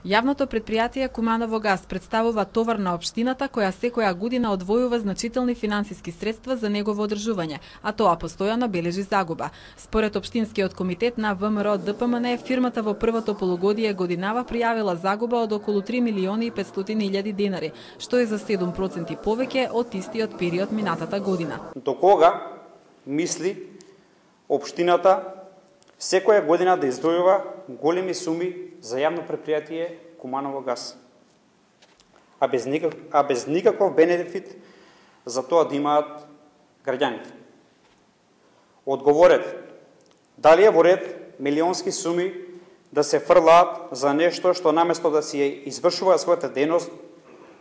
Јавното претпријатие Куманово газ представува товар на општината која секоја година одвојува значителни финансиски средства за негово одржување, а тоа постојано бележи загуба. Според општинскиот комитет на ВМРО ДПМН, фирмата во првото полугодие годинава пријавила загуба од околу 3.500.000 денари, што е за 7% повеќе од истиот период минатата година. До кога мисли општината секоја година да издвојува големи суми за јавно претпријатие Куманово газ, а без никаков бенефит за тоа да имаат граѓаните? Одговорете, дали е во ред милионски суми да се фрлаат за нешто што наместо да си извршува својата дејност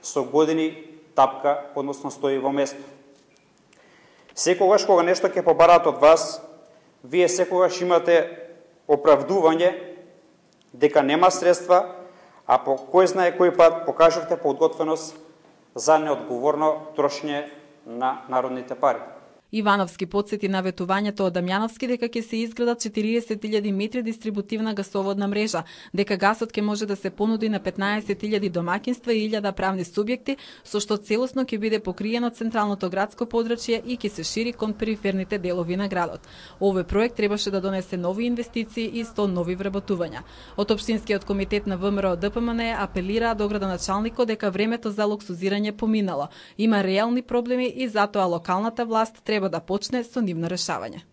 со години тапка, односно стои во место? Секогаш кога нешто ќе побараат од вас, вие секогаш имате оправдување дека нема средства, а по кој знае кој пат покажавте подготвеност за неодговорно трошење на народните пари. Ивановски потсети на ветувањето од Дамјановски дека ќе се изградат 40.000 метри дистрибутивна гасоводна мрежа, дека гасот ќе може да се понуди на 15.000 домаќинства и 1.000 правни субјекти, со што целосно ќе биде покриено централното градско подрачје и ќе се шири кон периферните делови на градот. Овој проект требаше да донесе нови инвестиции и 100 нови вработувања. Од општинскиот комитет на ВМРО ДПМН апелираа до градоначалникот дека времето за луксузирање поминало. Има реални проблеми и затоа локалната власт треба да почне со нивно решавање.